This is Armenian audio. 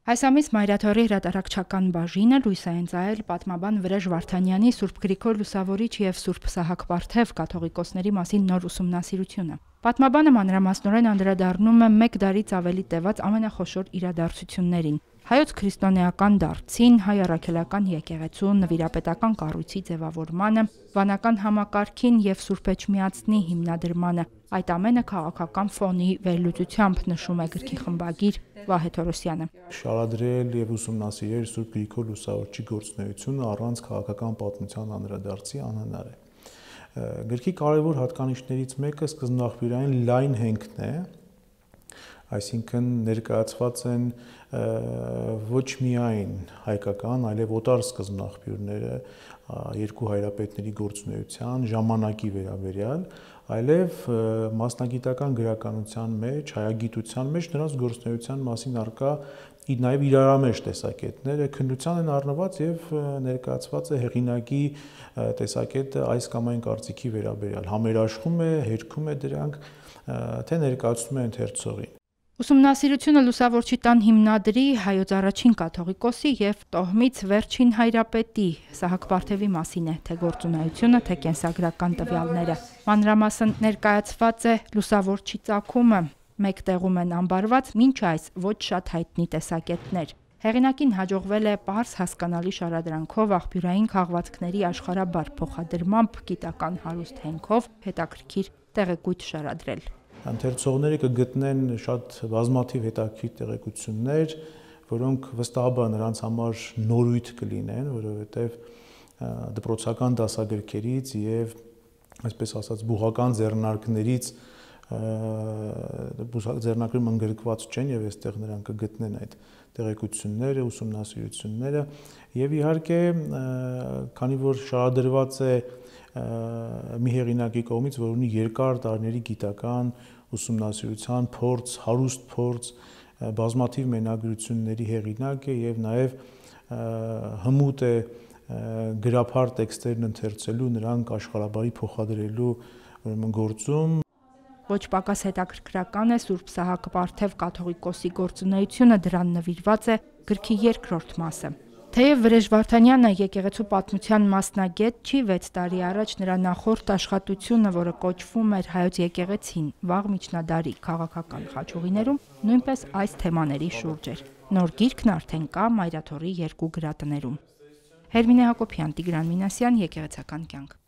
Այս ամիս Մայրաթորի հրատարակչական բաժինը լույս է ընծայել պատմաբան Վրեժ Վարդանյանի Սուրբ Գրիգոր Լուսավորիչ եւ Սուրբ Սահակ Պարթև կաթողիկոսների մասին նոր ուսումնասիրությունը։ Պատմաբանը մանրամասնորեն անդրադառնում է 1 դարից ավելի տևած ամենախոշոր իրադարձություններին՝ հայոց քրիստոնեական դարձին, հայ առաքելական եկեղեցու նվիրապետական կառույցի ձևավորմանը, վանական համակարգին եւ Սուրբ Էջմիածնի հիմնադրմանը։ Այդ ամենը քաղաքական ֆոնի վերլուծությամբ նշում է գրքի խմբագիր Վահե Թորոսյանը։ Շարադրել եւ ուսումնասիրել Սուրբ Գրիգոր Լուսավորչի գործունեությունը առանց քաղաքական պատմության անդրադարձի անհնար է։ Գրքի կարևոր հատկանիշներից մեկը սկզբնաղբյուրային լայն հենքն է, այսինքն ներկայացված են ոչ միայն հայկական, այլև օտար սկզբնաղբյուրները երկու հայրապետների գործունեության ժամանակի վերաբերյալ, այլև մասնագիտական գրականության մեջ, հայագիտության մեջ նրանց գործունեության մասին առկա նաև իրարամեջ տեսակետները քննության են առնված եւ ներկայացված է հեղինակի տեսակետը այս կամ այն կարծիքի վերաբերյալ, համերաշխում է, հերքում է դրանք, թե ներկայացնում է ընթերցողին։ Ուսումնասիրությունը Լուսավորչի տան հիմնադրի, հայոց առաջին կաթողիկոսի եւ տոհմից վերջին հայրապետի Սահակ Պարթևի մասին է, թե գործունեությունը, թե կենսագրական տվյալները։ Մանրամասն ներկայացված է Լուսավորչի ծագումը, մեկ տեղում են ամբարված մինչ այս ոչ շատ հայտնի տեսակետներ։ Հեղինակին հաջողվել է պարզ հասկանալի շարադրանքով, աղբյուրային քաղվածքների աշխարհաբար փոխադրմամբ, գիտական հարուստ հենքով հետաքրքիր տեղեկույթ շարադրել։ Ընթերցողները կգտնեն շատ բազմաթիվ հետաքրքիր տեղեկություններ, որոնք վստահաբար նրանց համար նորույթ կլինեն, որովհետև դպրոցական դասագրքերից եւ այսպես ասած բուհական ձեռնարկներից ձեռնարկում ընդգրկված չեն եւ այստեղ նրանք կգտնեն այդ տեղեկությունները, ուսումնասիրությունները եւ իհարկե քանի որ շարադրված է մի հեղինակի կողմից, որ ունի երկար տարիների գիտական ուսումնասիրության փորձ, հարուստ փորձ, բազմաթիվ մենագրությունների հեղինակ է եւ նաեւ հմուտ է գրափար տեքստերն ընթերցելու, նրանք աշխարհաբարի փոխադրելու գործում։ Ոչ պակաս հետաքրքրական է Սուրբ Սահակ Պարթև կաթողիկոսի գործունեությունը, դրան նվիրված է գրքի երկրորդ մասը։ Թեև Վրեժ Վարդանյանը եկեղեցու պատմության մասնագետ չի, 6 տարի առաջ նրա նախորդ աշխատությունը, որը կոչվում էր Հայոց եկեղեցին, վաղ միջնադարի քաղաքական խաչուղիներում, նույնպես այս թեմաների շուրջ էր։ Նոր գիրքն արդեն կա Մայրաթորի 2 գրատներում։ Հերմինե Հակոբյան, Տիգրան Մինասյան, Եկեղեցական կյանք։